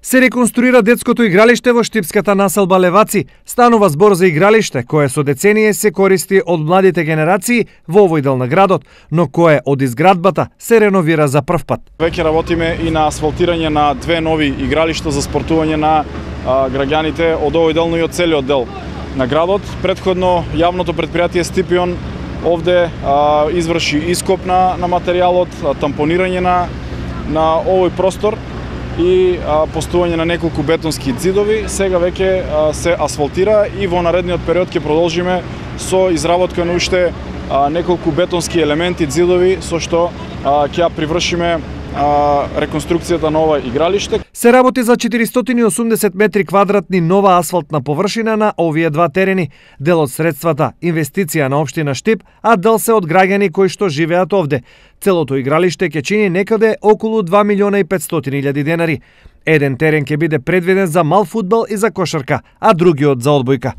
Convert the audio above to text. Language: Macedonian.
Се реконструира детското игралиште во штипската населба Леваци. Станува збор за игралиште кое со децении се користи од младите генерации во овој дел на градот, но кое од изградбата се реновира за прв пат. Веќе работиме и на асфалтирање на две нови игралишта за спортување на граѓаните од овој дел, но и од целиот дел на градот. Предходно јавното претпријатие Стипион овде изврши ископ на материјалот, тампонирање на овој простор и поставување на неколку бетонски ќидови. Сега веќе се асфалтира и во наредниот период ќе продолжиме со изработка на уште неколку бетонски елементи, ѕидови, со што ќе ја привршиме реконструкцијата на ова игралиште. Се работи за 480 метри квадратни нова асфалтна површина на овие два терени. Дел од средствата инвестиција на општина Штип, а дел се од граѓани кои што живеат овде. Целото игралиште ќе чини некаде околу 2.500.000 денари. Еден терен ќе биде предвиден за мал фудбал и за кошарка, а другиот за одбојка.